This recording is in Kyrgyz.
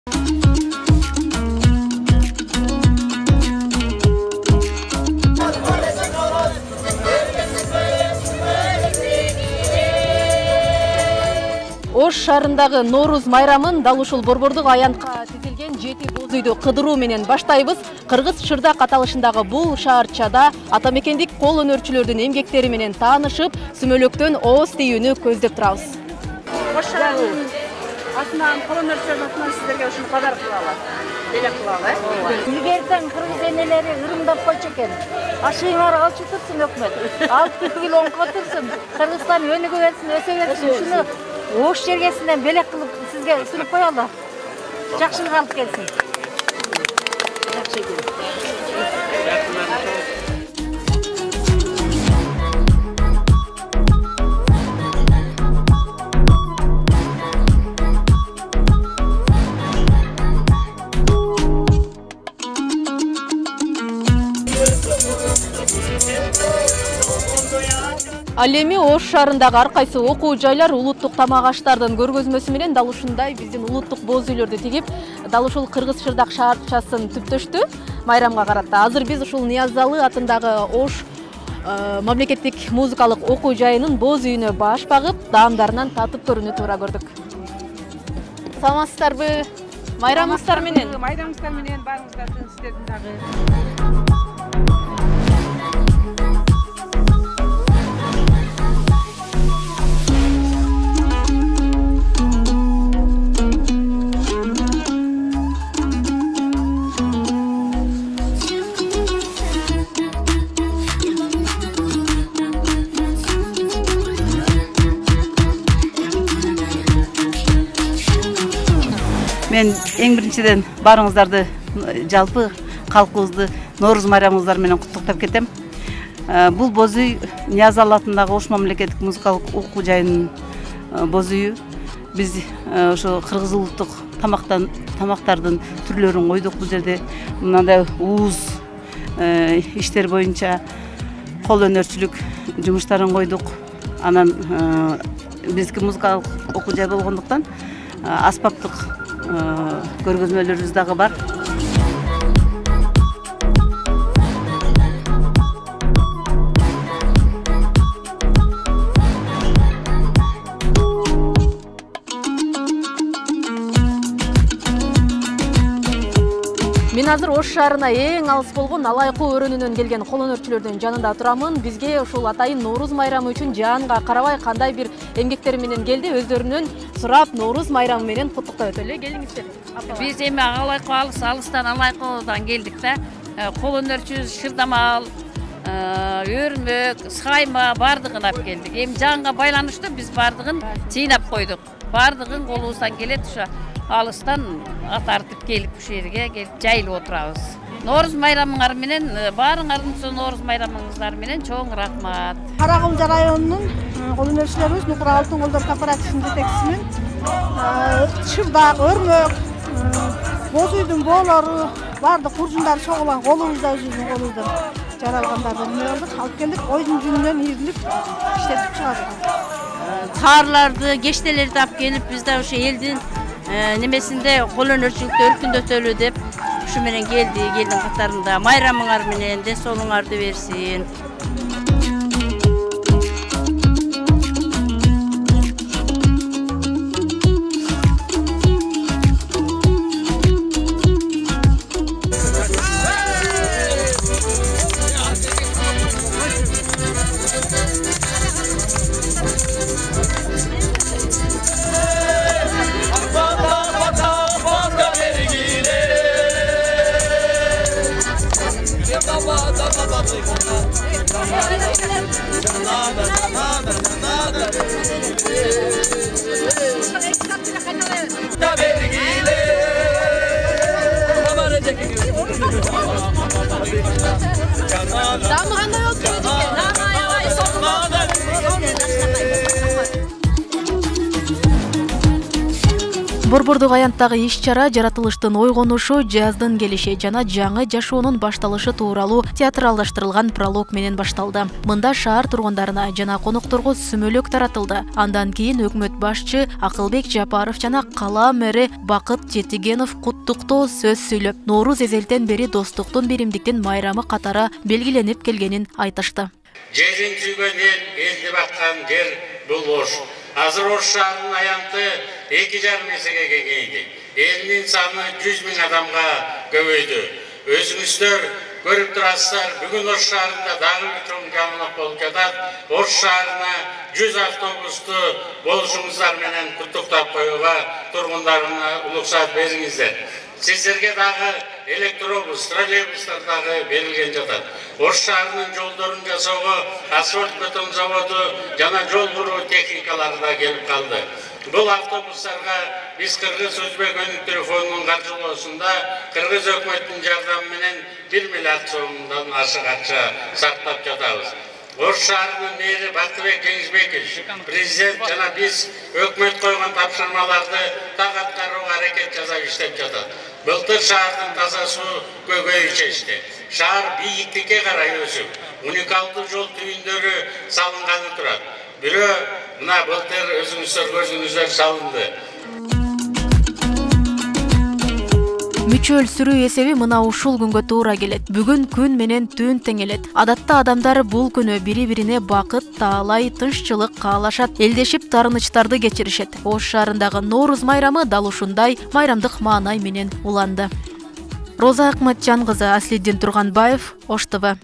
Ош шаарындагы Норуз майрамын дал ушул борбордук аянтка тизилген 7 боз үйдү кыдыруу менен баштайбыз. Кыргыз Шырдак аталышындагы бул шаарчада атамекендик кол өнөрчүлөрдүн эмгектери менен таанышып, сүмөлөктөн ооз тийүүнү көздөп турабыз. Ош шаарынын атынан, кол өнөрчүлөрдүн атынан сиздерге ушуну кадар кылалы. Белек кылалы, Илгертен кыргыз энелери ырымдап койчу экен. Ашыгыңар алчу турсун өкмөт. Алып тигил оңко турсун. Кыргызстан өнүгө берсин, өсө берсин. Ушуну Ош жергесинен белек кылып сизге сүрүп коелу. Жакшылык алып келсин. Жакшы экен. Ал эми Ош шаарындагы ар кайсы окуу жайлар улуттук тамак аштардын көргөзмөсү менен дал ушундай биздин улуттук боз үйлөрдү тигип, дал ушул Кыргыз Шырдак шаарчасын түптөштү майрамга карата. Азыр биз ушул Ниязалы атындагы Ош мамлекеттик музыкалык окуу жайынын боз үйүнө баш багып, даамдарынан татып көрүүнү туура көрдүк. Саламатсыздарбы? Майрамыңыздар менен. Майрамыңыздар менен баарыңыздардын сиздердин дагы. Мен эң биринчиден баарыңыздарды жалпы калкыбызды Норуз майрамыңыздар менен куттуктап кетем. Бул боз үй Ниязалы атындагы Ош мамлекеттик музыкалык окуу жайынын боз үйү. Биз ошо кыргыз улуттук тамактардын түрлөрүн койдук бул жерде. Мындай ууз иштер боюнча кол өнөрчүлүк жумуштарын койдук. Анан биздики музыкалык окуу жай болгондуктан аспаптык көргөзмөлөрүбүз дагы бар. Мен азыр Ош шаарына эң алыс болгон Алайкы өрөөнүнөн келген кол өнөрчүлөрдүн жанында турамын. Бизге ушул атайын Норуз майрамы үчүн жанга карабай кандай бир эмгектери менен келди, өздөрүнөн сурап Норуз майрамы менен куттуктап өтөлү. Келиңиздер. Биз эми Алайкы алыстан Алайкыдан келдик да. Кол өнөрчү шырдамал, өрмөк, сайма бардыгын алып келдик. Эми жанга байланыштуу биз бардыгын жыйнап койдук. Бардыгын колубуздан келет, ошо алыстан ат артып келип ушул жерге келип жайылып отурабыз. Норуз майрамыңар менен баарыңардын Норуз майрамыңыздар менен чоң рахмат. Каракулжа районунун кол өнөрчүлөрүбүз Нукура Алтын колдор кооперативинин жетекчисимин. Шырдак, өрмөк, боз үйдүн боолору, бардык куржундары чогулган колубузда өзүбүздүн колубуздан жаралгандарды алып келдик. Ойдун жүнүнөн ийрилип иштетип чыгардык. Таарларды, кештелерди алып келип бизде ошо элдин немесинде кол өнөрчүлүктү өркүндөтөлү деп ушу менен келди. Элдин катарында майрамыңар менен ден соолуңарды берсин. Борбордук аянттагы иш-чара жаратылыштын ойгонушу, жаздын келиши жана жаңы жашоонун башталышы тууралуу театралдаштырылган пролог менен башталды. Мында шаар тургундарына жана конокторго сүмөлөк таратылды. Андан кийин өкмөт башчы Акылбек Жапаров жана кала мэри Бакыт Жетигенов куттуктоо сөз сүйлөп, Нооруз эзелтен бери достуктун, биримдиктин майрамы катары белгиленип келгенин айтышты. Жерин сүйгөн элди баккан жер бул Ош. Азыр Ош шаарынын аянты 2,5 эсеге кеңейди. Элдин саны 100 000 адамга көбөйдү. Өзүңүздөр көрүп турасыздар, бүгүн Ош шаарында дагы бир чоң жаңылык болуп жатат. Ош шаарына 100 автобусту болушуңуздар менен куттуктап коюуга тургундарына уруксат бериңиздер. Сиздерге дагы электробус, троллейбустар дагы берилген жатат. Ош шаарынын жолдорун жасоого асфальт бетон заводу жана жол куруу техникалары да келип калды. Бул автобустарга биз Кыргыз Өзбек өнүк телефонунун каржылоосунда Кыргыз өкмөтүнүн жардамы менен 1 миллиард сомдон ашык акча сактап жатабыз. Ош шаарынын мэри Бактыбек Кеңизбекович, президент жана биз өкмөт койгон тапшырмаларды так аткарууга аракет жасап иштеп жатат. Былтыр шаардын таза суу көйгөйү чечти. Шаар бийиктикке карай өсүп, уникалдуу жол түйүндөрү салынганы турат. Бирөө мына былтыр өзүңүздөр көрдүңүздөр салынды. Мүчөл сүрүү эсеби мына ушул күнгө туура келет. Бүгүн күн менен түн тең элет. Адатта адамдар бул күнү бири-бирине бакыт, таалай, тынччылык каалашат, элдешип тарынычтарды кечиришет. Ош шаарындагы Нооруз майрамы дал ушундай майрамдык маанай менен уланды. Роза Акматжан кызы, Аслиддин Турганбаев, Ош ТВ.